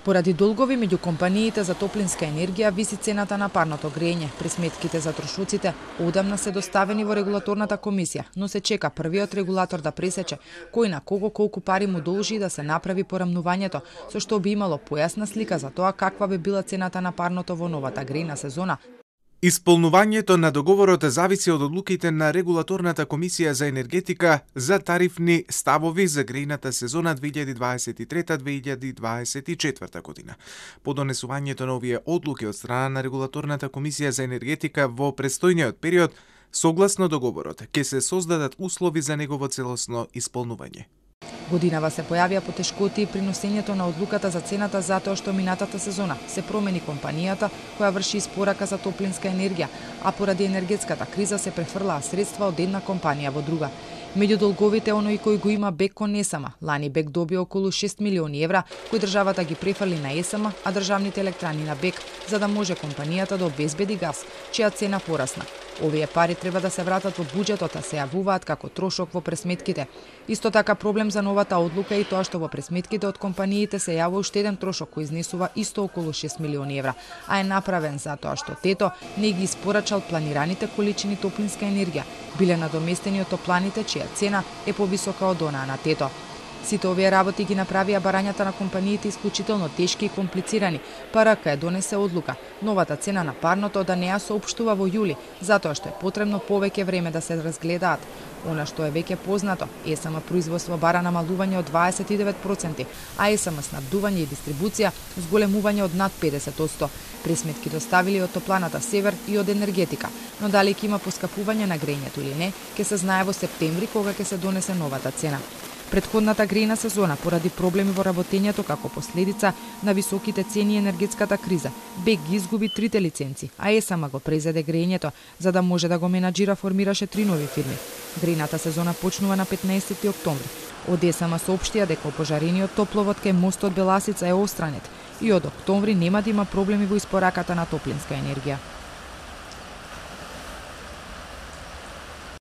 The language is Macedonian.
Поради долгови меѓу компаниите за топлинска енергија виси цената на парното грење. Пресметките за трошоците одамна се доставени во регулаторната комисија, но се чека првиот регулатор да пресече кој на кого колку пари му должи да се направи порамнувањето, со што би имало појасна слика за тоа каква би била цената на парното во новата грејна сезона. Исполнувањето на договорот зависи од одлуките на регулаторната комисија за енергетика за тарифни ставови за грејната сезона 2023-2024 година. По донесувањето на овие одлуки од страна на регулаторната комисија за енергетика во престојниот период, согласно договорот, ќе се создадат услови за негово целосно исполнување. Годинава се појавија потешкоти при носењето на одлуката за цената затоа што минатата сезона се промени компанијата која врши испорака за топлинска енергија, а поради енергетската криза се префрлаа средства од една компанија во друга. Меѓу долговите оној кој го има БЕК кон ЕСМ, лани БЕК добија околу 6 милиони евра кои државата ги префрли на ЕСМ, а државните електрани на БЕК, за да може компанијата да обезбеди газ, чија цена порасна. Овие пари треба да се вратат во буџетот, а се јавуваат како трошок во пресметките. Исто така проблем за новата одлука е и тоа што во пресметките од компаниите се јавува уште еден трошок кој изнесува исто околу 6 милиони евра, а е направен затоа што ТЕТО не ги испорачал планираните количини топлинска енергија, биле надоместени од топланите чија цена е повисока од онаа на ТЕТО. Сите овие работи ги направија барањата на компаниите исклучително тешки и комплицирани, па РК донесе одлука новата цена на парното да не ја соопштува во јули, затоа што е потребно повеќе време да се разгледаат. Она што е веќе познато, ЕСМ производство бара намалување од 29%, а ЕСМ снабдување и дистрибуција зголемување од над 50%. Пресметки доставили од топланата Север и од енергетика, но дали ќе има поскапување на грењето или не, ќе се знае во септември кога ќе се донесе новата цена. Предходната грејна сезона, поради проблеми во работењето како последица на високите цени и енергетската криза, БЕК ги изгуби 3 лиценци, а ЕСМ го презеде грејењето, за да може да го менаџира формираше 3 нови фирми. Грејната сезона почнува на 15 октомври. Од ЕСМ соопштија дека опожарениот топловод кај мостот Беласица е отстранет и од октомври нема да има проблеми во испораката на топлинска енергија.